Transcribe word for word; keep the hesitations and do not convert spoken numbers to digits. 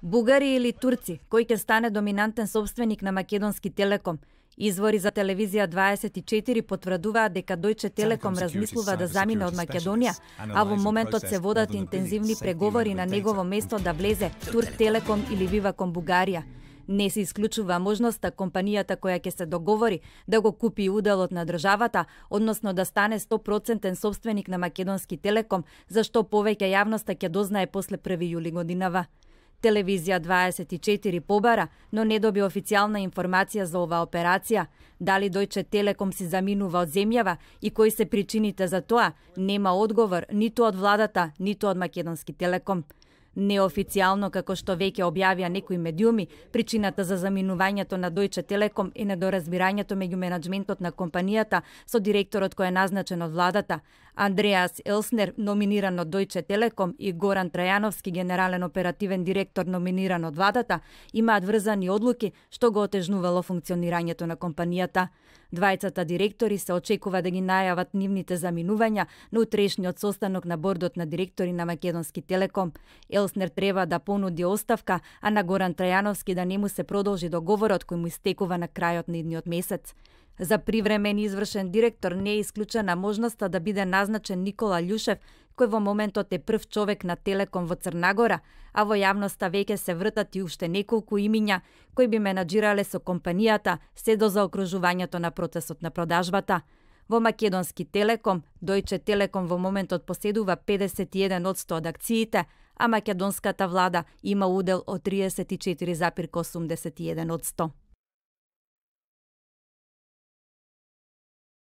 Бугари или турци, кој ќе стане доминантен собственик на Македонски Телеком? Извори за телевизија дваесет и четири потврдуваат дека Дојче Телеком размислува да замине од Македонија, а во моментот се водат интензивни преговори на негово место да влезе Турк Телеком или Виваком Бугарија. Не се исклучува можноста компанијата која ќе се договори да го купи уделот на државата, односно да стане сто проценти собственик на Македонски Телеком, зашто повеќе јавноста ќе дознае после први јули годинава. Телевизија дваесет и четири побара, но не доби официјална информација за оваа операција. Дали Дојче Телеком си заминува од земјава и кои се причините за тоа, нема одговор ниту од владата, ниту од Македонски Телеком. Неофицијално, како што веќе објавија некои медиуми, причината за заминувањето на Дојче Телеком е недоразбирањето меѓу менаџментот на компанијата со директорот кој е назначен од владата. Андреас Елснер, номиниран од Дојче Телеком, и Горан Трајановски, генерален оперативен директор, номиниран од владата, имаат врзани одлуки што го отежнувало функционирањето на компанијата. Двајцата директори се очекува да ги најават нивните заминувања на утрешниот состанок на бордот на директори на Македонски Телеком. Елснер треба да понуди оставка, а на Горан Трајановски да не му се продолжи договорот кој му истекува на крајот на идниот месец. За привремен извршен директор не е исклучена можноста да биде назначен Никола Љушев, кој во моментот е прв човек на Телеком во Црнагора, а во јавноста веќе се вртат и уште неколку имиња кои би менаџирале со компанијата се до заокружувањето на процесот на продажбата. Во Македонски Телеком, Дојче Телеком во моментот поседува педесет и еден одсто од акциите, а македонската влада има удел од триесет и четири зарез осумдесет и еден одсто.